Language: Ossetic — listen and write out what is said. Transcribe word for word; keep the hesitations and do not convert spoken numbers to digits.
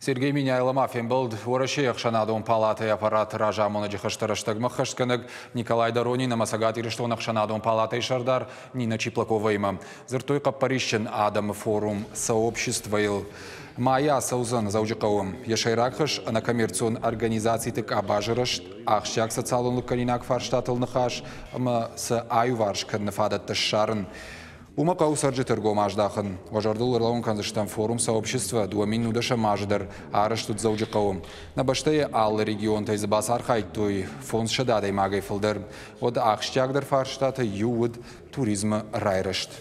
Сергей Меняйло ма фембӕлд Уӕрӕсейы ӕхсӕнадон палатӕйы аппараты разамонӕджы хӕстӕ рӕстӕгмӕ ӕххӕстгӕнӕг Николай Доронин ӕмӕ Цӕгат Ирыстоны ӕхсӕнадон палатӕйы сӕрдар Нина Чиплаковаимӕ. Дзырдтой хъӕппӕрисджын адӕмы форум «Сообщество»-йыл. Майы ацӕудзӕн Дзӕуджыхъӕуы. Йӕ сӕйраг хӕс ӕнӕкоммерцион организациты къабазы рӕзт, ахсджиаг социалон лыггӕнинаг фарстатыл ныхас ӕмӕ сӕ аиуварс кӕныны фадӕттӕ ссарын. Уымӕ хъӕуы цӕрджыты ӕргом аздахын. Уӕ зӕрдыл ӕрлӕууын кӕндзыстӕм форум «Сообщество» дыууӕ мин нудӕсӕм азы дӕр арӕзт уыд Дзӕуджыхъӕуы. Нӕ бӕстӕйы алы регионтӕй дзы бацархайдтой фондзсӕдӕ адӕймагӕй фылдӕр. Уӕд ахсджиагдӕр фарстатӕй иу уыд туризмы райрӕзт.